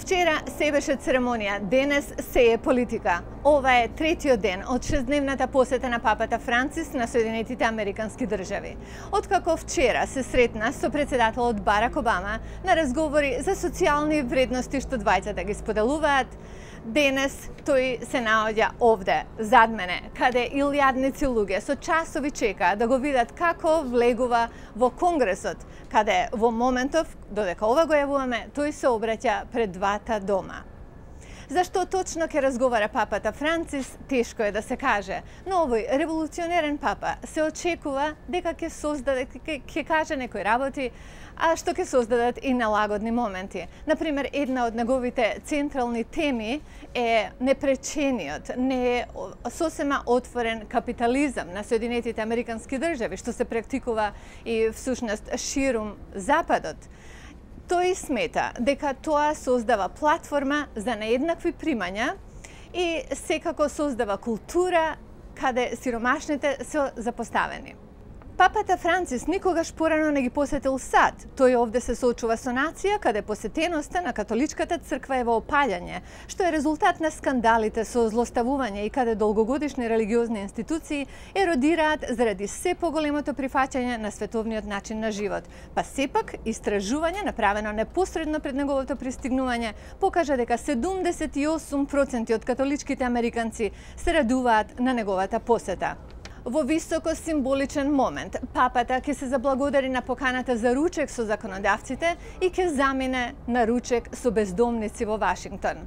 Вчера се беше церемонија, денес се е политика. Ова е третиот ден од 6-дневната посета на папата Францис на Соединетите Американски држави. Откако вчера се сретна со председателот Барак Обама на разговори за социјални вредности што двајцата ги споделуваат, денес тој се наоѓа овде, зад мене, каде илјадници луѓе со часови чекаат да го видат како влегува во Конгресот, каде во моментов, додека ова го јавуваме, тој се обраќа пред двата дома. Зашто точно ќе разговара папата Францис, тешко е да се каже, но овој револуционерен папа се очекува дека ќе создаде, ќе каже некои работи, а што ќе создадат и налагодни моменти. Например, една од неговите централни теми е непречениот, не сосема отворен капитализам на Соединетите Американски држави, што се практикува и всушност ширум Западот. Тој смета дека тоа создава платформа за нееднакви примања и секако создава култура каде сиромашните се запоставени. Папата Францис никогаш порано не ги посетил САД. Тој овде се соочува со нација каде посетеноста на католичката црква е во опаѓање, што е резултат на скандалите со злоставување и каде долгогодишни религиозни институции еродираат заради се поголемото прифаќање на световниот начин на живот. Па сепак, истражување направено непосредно пред неговото пристигнување покажа дека 78% од католичките американци се радуваат на неговата посета. Во високо символичен момент, папата ќе се заблагодари на поканата за ручек со законодавците и ќе замине на ручек со бездомници во Вашингтон.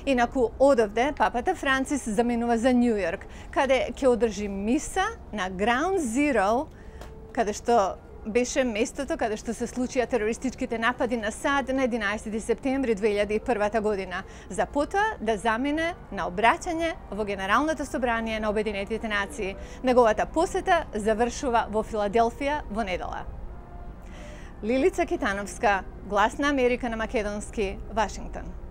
Инаку одовде, папата Францис заминува за Њу Јорк, каде ќе одржи миса на Ground Zero, каде што беше местото каде што се случија терористичките напади на САД на 11 септември 2001 година, за потоа да замине на обраќање во Генералното собрание на Обединетите нации. Неговата посета завршува во Филаделфија во недела. Лилица Китановска, Глас на Америка на македонски, Вашингтон.